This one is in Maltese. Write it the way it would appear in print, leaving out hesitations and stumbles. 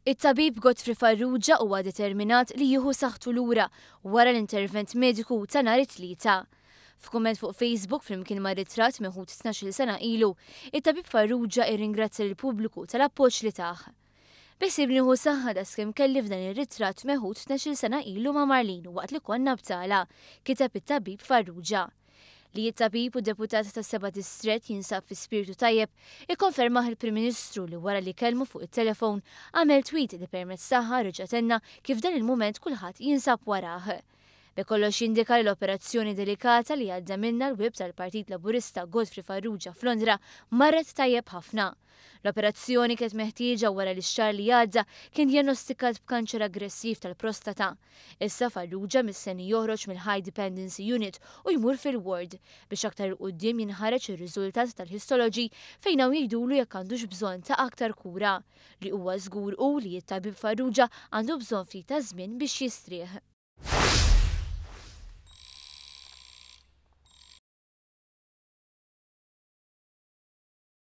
It-tabib Godfrey Farrugia huwa determinat li jieħu saħħtu lura wara l-intervent mediku ta' nhar it-Tlieta. F'kumment fuq Facebook flimkien ma' ritratt meħud 12-il sena ilu, it-tabib Farrugia irringrazzja lill-pubbliku tal-appoġġ li tah. Biħsiebni nieħu saħħa daqskemm kelli f'dan ir-ritratt meħud 12-il sena ilu ma' Marlene waqt li konna btala, kiteb it-tabib Farrugia. Li t-tabib u deputat tas-Seba' Distrett jinsab fi spirtu tajjeb ikkonfermah il-Prim Ministru li wara li kellmu fuq it-telefon għamel tweet li permezz tagħha reġa' tenna kif f'dan il-mument kulħadd jinsab warah. B'hekk kollox jindika li l-operazzjoni delikata li għadda minnha l-Whip tal-Partit Laburista Godfrey Farrugia f'Londra marret tajjeb ħafna. L-operazzjoni kienet meħtieġa wara li x-xahar li għadda kien djannostikat b'kanċer aggressiv tal-prostata. Issa Farrugia mistenni joħroġ mill-High Dependency Unit u jmur fil-ward biex aktar 'il quddiem jinħareġ ir-riżultat tal-histology fejn hawn jgħidulu jekk għandux bżonn ta' aktar kura. Li huwa żgur hu li t-tabib Farrugia għandu bżonn ftit ta' żmien biex jistrieħ.